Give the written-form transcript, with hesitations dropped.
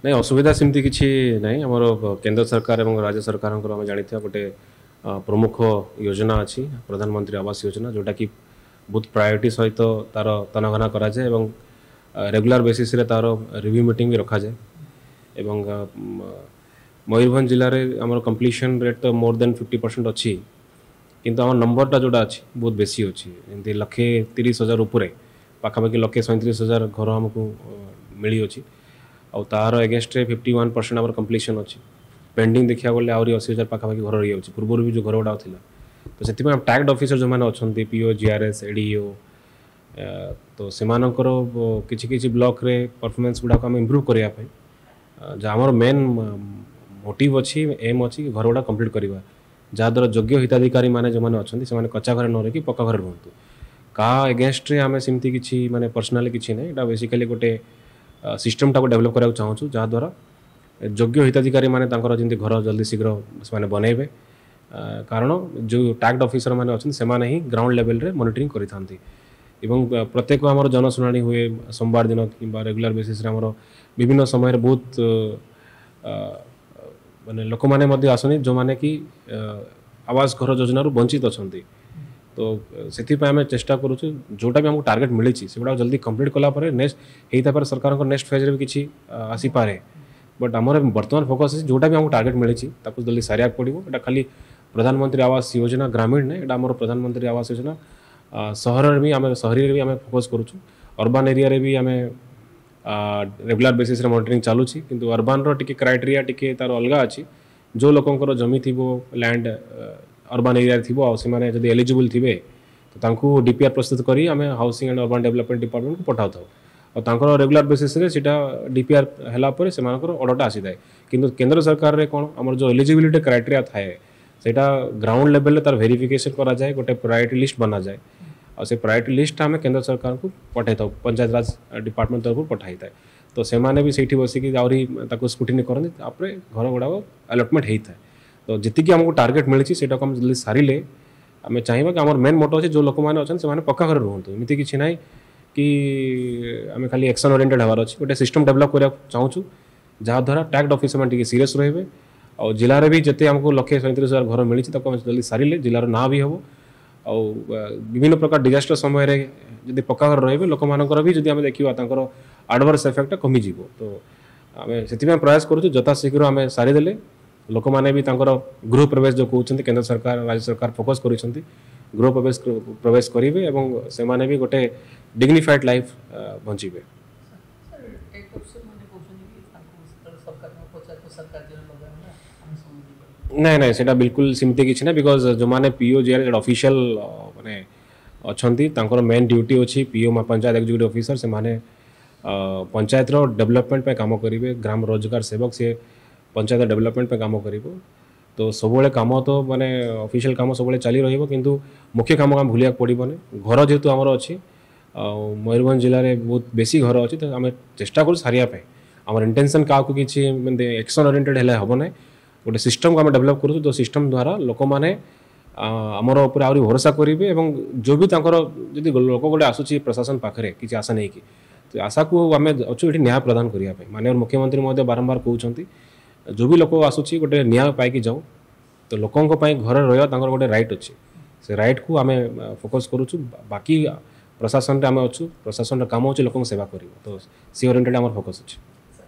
ନାଇଁ, ଅସୁବିଧା ସେମିତି କିଛି ନାହିଁ। ଆମର କେନ୍ଦ୍ର ସରକାର ଏବଂ ରାଜ୍ୟ ସରକାରଙ୍କର ଆମେ ଜାଣିଥିବା ଗୋଟେ ପ୍ରମୁଖ ଯୋଜନା ଅଛି, ପ୍ରଧାନମନ୍ତ୍ରୀ ଆବାସ ଯୋଜନା, ଯେଉଁଟାକି ବହୁତ ପ୍ରାୟୋରିଟି ସହିତ ତାର ତନାଘନା କରାଯାଏ ଏବଂ ରେଗୁଲାର ବେସିସ୍ରେ ତାର ରିଭ୍ୟୁ ମିଟିଂ ବି ରଖାଯାଏ। ଏବଂ ମୟୂରଭଞ୍ଜ ଜିଲ୍ଲାରେ ଆମର କମ୍ପ୍ଲିସନ୍ ରେଟ୍ ତ ମୋର୍ ଦେନ୍ 50% ଅଛି, କିନ୍ତୁ ଆମ ନମ୍ବରଟା ଯେଉଁଟା ଅଛି ବହୁତ ବେଶୀ ଅଛି। ଯେମିତି 1,30,000 ଉପରେ, ପାଖାପାଖି 1,37,000 ଘର ଆମକୁ ମିଳିଅଛି ଆଉ ତାର ଏଗେନଷ୍ଟରେ 51% ଆମର କମ୍ପ୍ଲିସନ୍ ଅଛି। ପେଣ୍ଡିଂ ଦେଖିବାକୁ ଗଲେ ଆହୁରି 80,000 ପାଖାପାଖି ଘର ରହିଯାଉଛି, ପୂର୍ବରୁ ବି ଯେଉଁ ଘର ଗୁଡ଼ାକ ଥିଲା। ତ ସେଥିପାଇଁ ଟ୍ୟାଗ୍ଡ ଅଫିସର ଯେଉଁମାନେ ଅଛନ୍ତି, PO, GRS, ADO, ତ ସେମାନଙ୍କର କିଛି କିଛି ବ୍ଲକରେ ପରଫର୍ମାନ୍ସ ଗୁଡ଼ାକ ଆମେ ଇମ୍ପ୍ରୁଭ୍ କରିବା ପାଇଁ, ଯାହା ଆମର ମେନ୍ ମୋଟିଭ୍ ଅଛି, ଏମ୍ ଅଛି କି ଘର ଗୁଡ଼ା କମ୍ପ୍ଲିଟ୍ କରିବା, ଯାହାଦ୍ୱାରା ଯୋଗ୍ୟ ହିତାଧିକାରୀମାନେ ଯେଉଁମାନେ ଅଛନ୍ତି ସେମାନେ କଚ୍ଚା ଘରେ ନ ରହିକି ପକ୍କା ଘରେ ରୁହନ୍ତୁ। କାହା ଏଗେନଷ୍ଟରେ ଆମେ ସେମିତି କିଛି ମାନେ ପର୍ସନାଲି କିଛି ନାହିଁ। ଏଇଟା ବେସିକାଲି ଗୋଟେ ସିଷ୍ଟମଟାକୁ ଡେଭଲପ୍ କରିବାକୁ ଚାହୁଁଛୁ, ଯାହାଦ୍ୱାରା ଯୋଗ୍ୟ ହିତାଧିକାରୀମାନେ ତାଙ୍କର ଯେମିତି ଘର ଜଲ୍ଦି ଶୀଘ୍ର ସେମାନେ ବନେଇବେ। କାରଣ ଯେଉଁ ଟ୍ୟାଗ୍ଡ ଅଫିସର ମାନେ ଅଛନ୍ତି ସେମାନେ ହିଁ ଗ୍ରାଉଣ୍ଡ ଲେଭେଲରେ ମନିଟରିଂ କରିଥାନ୍ତି ଏବଂ ପ୍ରତ୍ୟେକ ଆମର ଜନଶୁଣାଣି ହୁଏ ସୋମବାର ଦିନ କିମ୍ବା ରେଗୁଲାର ବେସିସ୍ରେ ଆମର ବିଭିନ୍ନ ସମୟରେ ବହୁତ ମାନେ ଲୋକମାନେ ମଧ୍ୟ ଆସନ୍ତି ଯେଉଁମାନେ କି ଆବାସ ଘର ଯୋଜନାରୁ ବଞ୍ଚିତ ଅଛନ୍ତି। ତ ସେଥିପାଇଁ ଆମେ ଚେଷ୍ଟା କରୁଛୁ ଯେଉଁଟା ବି ଆମକୁ ଟାର୍ଗେଟ୍ ମିଳିଛି ସେଗୁଡ଼ାକ ଜଲ୍ଦି କମ୍ପ୍ଲିଟ୍ କଲା ପରେ ନେକ୍ସଟ ହେଇଥାଇପାରେ, ସରକାରଙ୍କ ନେକ୍ସଟ ଫେଜ୍ରେ ବି କିଛି ଆସିପାରେ। ବଟ୍ ଆମର ବର୍ତ୍ତମାନ ଫୋକସ୍ ଅଛି ଯେଉଁଟା ବି ଆମକୁ ଟାର୍ଗେଟ୍ ମିଳିଛି ତାକୁ ଜଲ୍ଦି ସାରିବାକୁ ପଡ଼ିବ। ଏଇଟା ଖାଲି ପ୍ରଧାନମନ୍ତ୍ରୀ ଆବାସ ଯୋଜନା ଗ୍ରାମୀଣ ନାହିଁ, ଏଇଟା ଆମର ପ୍ରଧାନମନ୍ତ୍ରୀ ଆବାସ ଯୋଜନା ସହରରେ ବି ଆମେ, ସହରୀରେ ବି ଆମେ ଫୋକସ୍ କରୁଛୁ। ଅର୍ବାନ୍ ଏରିଆରେ ବି ଆମେ ରେଗୁଲାର ବେସିସ୍ରେ ମନିଟରିଂ ଚାଲୁଛି, କିନ୍ତୁ ଅର୍ବାନ୍ର ଟିକେ କ୍ରାଇଟେରିଆ ଟିକେ ତାର ଅଲଗା ଅଛି। ଯେଉଁ ଲୋକଙ୍କର ଜମି ଥିବ, ଲ୍ୟାଣ୍ଡ ଅର୍ବାନ୍ ଏରିଆରେ ଥିବ ଆଉ ସେମାନେ ଯଦି ଏଲିଜିବୁଲ୍ ଥିବେ ତ ତାଙ୍କୁ ଡିପିଆର୍ ପ୍ରସ୍ତୁତ କରି ଆମେ ହାଉସିଂ ଆଣ୍ଡ ଅର୍ବାନ୍ ଡେଭଲପମେଣ୍ଟ ଡିପାର୍ଟମେଣ୍ଟକୁ ପଠାଉଥାଉ ଆଉ ତାଙ୍କର ରେଗୁଲାର ବେସିସ୍ରେ ସେଇଟା ଡିପିଆର୍ ହେଲା ପରେ ସେମାନଙ୍କର ଅର୍ଡ଼ରଟା ଆସିଥାଏ। କିନ୍ତୁ କେନ୍ଦ୍ର ସରକାରରେ କ'ଣ ଆମର ଯେଉଁ ଏଲିଜିବିଲିଟି କ୍ରାଇଟେରିଆ ଥାଏ ସେଇଟା ଗ୍ରାଉଣ୍ଡ ଲେଭେଲରେ ତାର ଭେରିଫିକେସନ୍ କରାଯାଏ, ଗୋଟେ ପ୍ରାୟୋରିଟି ଲିଷ୍ଟ ବନାଯାଏ ଆଉ ସେ ପ୍ରାୟୋରିଟି ଲିଷ୍ଟଟା ଆମେ କେନ୍ଦ୍ର ସରକାରଙ୍କୁ ପଠାଇଥାଉ, ପଞ୍ଚାୟତ ରାଜ ଡିପାର୍ଟମେଣ୍ଟ ତରଫରୁ ପଠାଇଥାଏ। ତ ସେମାନେ ବି ସେଇଠି ବସିକି ଆହୁରି ତାକୁ ସ୍କ୍ରୁଟିନି କରନ୍ତି, ତାପରେ ଘର ଗୁଡ଼ାକ ଆଲଟମେଣ୍ଟ ହେଇଥାଏ। ତ ଯେତିକି ଆମକୁ ଟାର୍ଗେଟ୍ ମିଳିଛି ସେଇଟାକୁ ଆମେ ଜଲ୍ଦି ସାରିଲେ ଆମେ ଚାହିଁବା କି ଆମର ମେନ୍ ମୋଟୋ ଅଛି ଯେଉଁ ଲୋକମାନେ ଅଛନ୍ତି ସେମାନେ ପକ୍କା ଘରେ ରୁହନ୍ତୁ। ଏମିତି କିଛି ନାହିଁ କି ଆମେ ଖାଲି ଆକ୍ସନ୍ ଓରିଏଣ୍ଟେଡ୍ ହେବାର ଅଛି। ଗୋଟେ ସିଷ୍ଟମ୍ ଡେଭଲପ୍ କରିବାକୁ ଚାହୁଁଛୁ ଯାହାଦ୍ୱାରା ଟ୍ୟାଗ୍ଡ ଅଫିସର ମାନେ ଟିକେ ସିରିୟସ୍ ରହିବେ ଆଉ ଜିଲ୍ଲାରେ ବି ଯେତେ ଆମକୁ 1,37,000 ଘର ମିଳିଛି ତାକୁ ଆମେ ଜଲ୍ଦି ସାରିଲେ ଜିଲ୍ଲାର ନାଁ ବି ହେବ ଆଉ ବିଭିନ୍ନ ପ୍ରକାର ଡିଜାଷ୍ଟର ସମୟରେ ଯଦି ପକ୍କା ଘର ରହିବେ ଲୋକମାନଙ୍କର ବି ଯଦି ଆମେ ଦେଖିବା ତାଙ୍କର ଆଡ଼ଭର୍ସ ଏଫେକ୍ଟଟା କମିଯିବ। ତ ଆମେ ସେଥିପାଇଁ ପ୍ରୟାସ କରୁଛୁ ଯଥାଶୀଘ୍ର ଆମେ ସାରିଦେଲେ ଲୋକମାନେ ବି ତାଙ୍କର ଗୃହ ପ୍ରବେଶ ଯେଉଁ କହୁଛନ୍ତି କେନ୍ଦ୍ର ସରକାର ରାଜ୍ୟ ସରକାର ଫୋକସ୍ କରୁଛନ୍ତି, ଗୃହ ପ୍ରବେଶ କରିବେ ଏବଂ ସେମାନେ ବି ଗୋଟେ ଡିଗ୍ନିଫାଏଡ୍ ଲାଇଫ୍ ବଞ୍ଚିବେ। ନାଇଁ ନାଇଁ, ସେଇଟା ବିଲକୁଲ ସେମିତି କିଛି ନାହିଁ, because ଯେଉଁମାନେ ପିଓ ଜିଆର୍ ଅଫିସିଆଲ ମାନେ ଅଛନ୍ତି ତାଙ୍କର ମେନ୍ ଡ୍ୟୁଟି ଅଛି ପିଓ ପଞ୍ଚାୟତ ଏକ୍ଜିକ୍ୟୁଟିଭ୍ ଅଫିସର, ସେମାନେ ପଞ୍ଚାୟତର ଡେଭଲପମେଣ୍ଟ ପାଇଁ କାମ କରିବେ। ଗ୍ରାମ ରୋଜଗାର ସେବକ ସିଏ ପଞ୍ଚାୟତ ଡେଭଲପମେଣ୍ଟ ପାଇଁ କାମ କରିବ। ତ ସବୁବେଳେ କାମ ତ ମାନେ ଅଫିସିଆଲ କାମ ସବୁବେଳେ ଚାଲି ରହିବ, କିନ୍ତୁ ମୁଖ୍ୟ କାମ ଆମେ ଭୁଲିବାକୁ ପଡ଼ିବନି। ଘର ଯେହେତୁ ଆମର ଅଛି ଆଉ ମୟୂରଭଞ୍ଜ ଜିଲ୍ଲାରେ ବହୁତ ବେଶୀ ଘର ଅଛି, ତ ଆମେ ଚେଷ୍ଟା କରୁ ସାରିବା ପାଇଁ। ଆମର ଇଣ୍ଟେନସନ୍ କାହାକୁ କିଛି ଏମିତି ଆକ୍ସନ୍ ଓରିଏଣ୍ଟେଡ୍ ହେଲେ ହେବ ନାହିଁ। ଗୋଟେ ସିଷ୍ଟମ୍କୁ ଆମେ ଡେଭଲପ୍ କରୁଛୁ ଯେଉଁ ସିଷ୍ଟମ୍ ଦ୍ୱାରା ଲୋକମାନେ ଆମର ଉପରେ ଆହୁରି ଭରସା କରିବେ ଏବଂ ଯେଉଁ ବି ତାଙ୍କର ଯଦି ଲୋକ ଗୋଟେ ଆସୁଛି ପ୍ରଶାସନ ପାଖରେ କିଛି ଆଶା ନେଇକି, ତ ଆଶାକୁ ଆମେ ଅଛୁ ଏଠି ନ୍ୟାୟ ପ୍ରଦାନ କରିବା ପାଇଁ। ମାନ୍ୟବର ମୁଖ୍ୟମନ୍ତ୍ରୀ ମଧ୍ୟ ବାରମ୍ବାର କହୁଛନ୍ତି ଯେଉଁ ବି ଲୋକ ଆସୁଛି ଗୋଟେ ନ୍ୟାୟ ପାଇକି ଯାଉ। ତ ଲୋକଙ୍କ ପାଇଁ ଘରେ ରହିବା ତାଙ୍କର ଗୋଟେ ରାଇଟ୍ ଅଛି, ସେ ରାଇଟ୍କୁ ଆମେ ଫୋକସ୍ କରୁଛୁ। ବାକି ପ୍ରଶାସନରେ ଆମେ ଅଛୁ, ପ୍ରଶାସନର କାମ ହେଉଛି ଲୋକଙ୍କ ସେବା କରିବ, ତ ସେ ଓରିଏଣ୍ଟେଡ୍ ଆମର ଫୋକସ୍ ଅଛି।